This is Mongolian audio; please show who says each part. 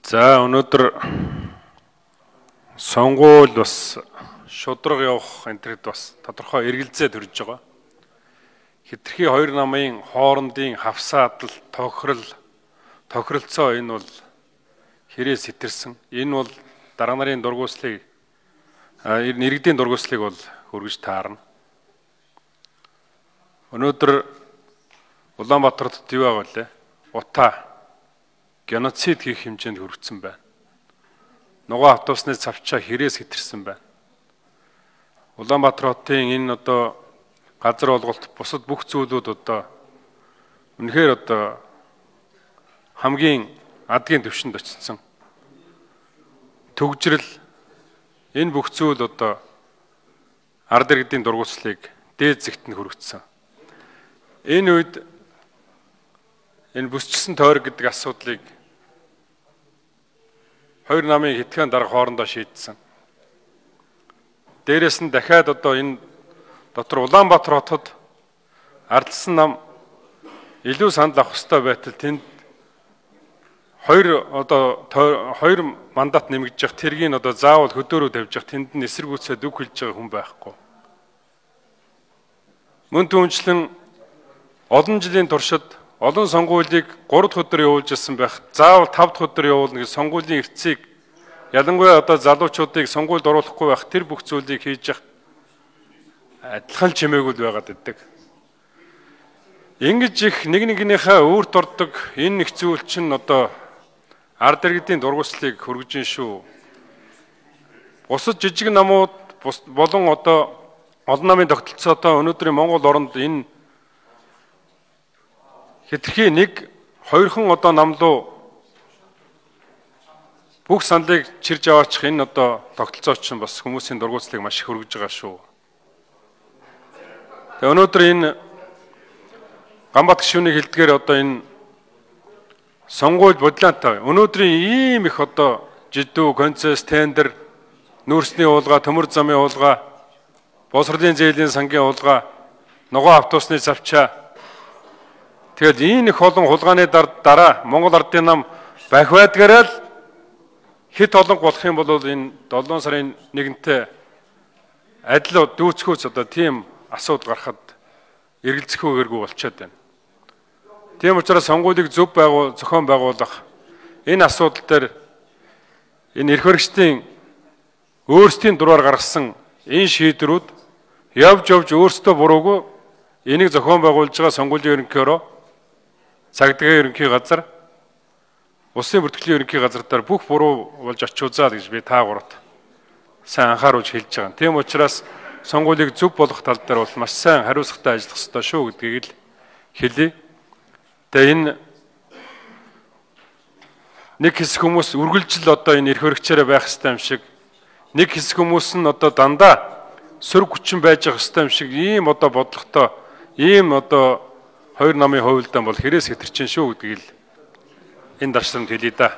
Speaker 1: За өнөөдөр сонгуул бас шудраг явах энтерд бас тодорхой эргэлзээ төрж байгаа. Хэтэрхий хоёр намын хоорондын хавсаадал, тохиролцоо энэ бол хэрэг сэтэрсэн. Энэ бол дарга нарын дургуйслыг иргэдийн дургуйслыг бол хүргэж таарна. Өнөөдөр Улаанбаатарт юу байгаа вэ? Утаа геноцид хийх хэмжээнд хүргэсэн байна. Нугаа автобусны цавчаа хэрэг сэтэрсэн байна. Улаанбаатар хотын энэ газар олголт бусад бүх зүйлүүд үнэхээр хамгийн адгийн түвшинд очсон. Төгжрөл энэ бүх зүйл ард иргэдийн дургуйслыг дээд зэгтэнд хүргэсэн. Энэ үед энэ бүсчсэн тойрог гэдэг асуудлыг хоёр намын хитгэн дарга хоорондоо шийдсэн. Дээрээс нь дахиад энэ дотор Улаанбаатар хотод ардсан нам илүү санал авах ёстой байтал тэнд хоёр мандат нэмэгдэж явах тэргийг заавал хөдөөрөө тавьж явах тэнд нь эсэргүүцээд үг хэлж байгаа хүн байхгүй. Мөн түүнчлэн олон жилийн туршид олон сонгуулийг 3 дахь өдөр явуулж ирсэн байх. Заавал 5 дахь өдөр явуулна гэж сонгуулийн эрхцийг ялангуяа залуучуудыг сонгуульд оруулахгүй байх тэр бүх зүйлийг хийж явах адилхан чимээгүүд байгаад байдаг. Ингэж их нэгнийхээ өөрт ордог энэ их зүйл чинь ард иргэдийн дургуйслыг хүргэж шүү. Бусад жижиг намууд болон олон намын тогтолцоотой өнөөдрийн Монгол оронд энэ хэтэрхий нэг хоёрхан намлуу бүх саналыг чирж аваачих энэ тогтолцооч нь бас хүмүүсийн дургуйслыг маш их хүргэж байгаа шүү. Тэгээ өнөөдөр энэ Ганбат гишүүний хэлдгээр энэ сонгууль бодлоотой өнөөдрийн ийм их жидүү, концесс, тендер, нүүрсний уулга, төмөр замын уулга, боловсролын зээлийн сангийн уулга, нугаа автобусны завчаа. Тэгэд энэ их олон хулгааны дараа Монгол ардын нам бахивадгаараа л хэд олон болох юм бол энэ 7 сарын 1-нд адил дүүцхүүц тийм асуудал гарахад эргэлзэхүүгээргүй болчиход байна. Тийм учраас сонгуулийг зохион байгуулах энэ асуудал дээр энэ эрх баригчдын өөрсдийн дураар гаргасан энэ шийдвэрүүд явж өөрсдөө буруугүй энийг зохион байгуулж байгаа сонгуулийн ерөнхиөрөө цагдаагийн ерөнхий газар, улсын бүртгэлийн ерөнхий газар дээр бүх буруу болж очиузаа гэж би та гуравт сайн анхааруулж хэлж байгаа. Тийм учраас сонгуулийг зөв болгох тал дээр бол маш сайн хариуцлагатай ажиллах ёстой шүү гэдгийг л хэлье. Тэгээ энэ нэг хэсэг хүмүүс үргэлжил энэ эрх баригчаараа байх ёстой юм шиг, нэг хэсэг хүмүүс нь дандаа сөрөг хүчин байж явах ёстой юм шиг ийм бодлоготой ийм хоёр намын хувьд бол хэрэг сэтэрчин шүү гэдгийг л энэ дарсанд хэлье да.